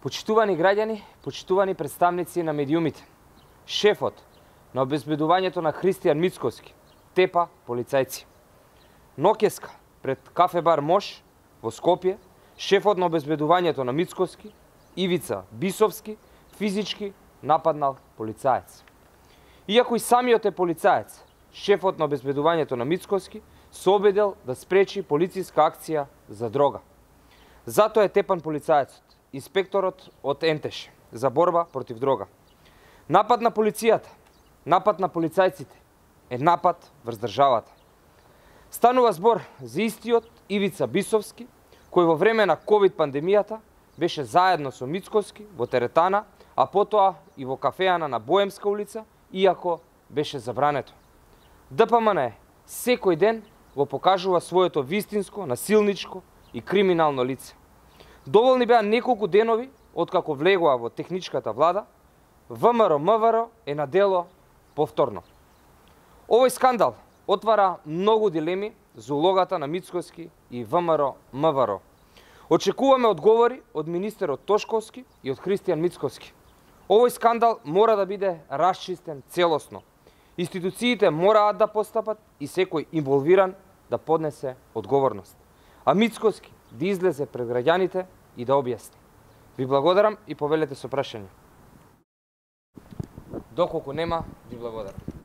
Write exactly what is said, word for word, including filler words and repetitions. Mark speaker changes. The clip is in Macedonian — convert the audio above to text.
Speaker 1: Почитувани граѓани, почитувани представници на медиумите, шефот на обезбедувањето на Христијан Мицкоски тепа полицајци. Ноќеска пред кафе бар Мош во Скопје, шефот на обезбедувањето на Мицкоски, Ивица Бисовски, физички нападнал полицаец. Иако и самиот е полицаец, шефот на обезбедувањето на Мицкоски се обидел да спречи полициска акција за дрога. Затоа е тепан полицаецот, инспекторот од Ентеш за борба против дрога. Напад на полицијата, напад на полицајците е напад врз државата. Станува збор за истиот Ивица Бисовски, кој во време на ковид пандемијата беше заедно со Мицкоски во теретана, а потоа и во кафејана на Боемска улица, иако беше забрането. ДПМН секој ден го покажува своето вистинско, насилничко и криминално лице. Доволни беа неколку денови откако влегоа во техничката влада, ВМРО-МВР е на дело повторно. Овој скандал отвара многу дилеми за улогата на Мицкоски и ВМРО-МВР. Очекуваме одговори од министерот Тошковски и од Христијан Мицкоски. Овој скандал мора да биде расчистен целосно. Институциите мораат да постапат и секој инволвиран да поднесе одговорност. А Мицкоски да излезе пред граѓаните и да објасни. Ви благодарам и повелете со прашање. Доколку нема, ви благодарам.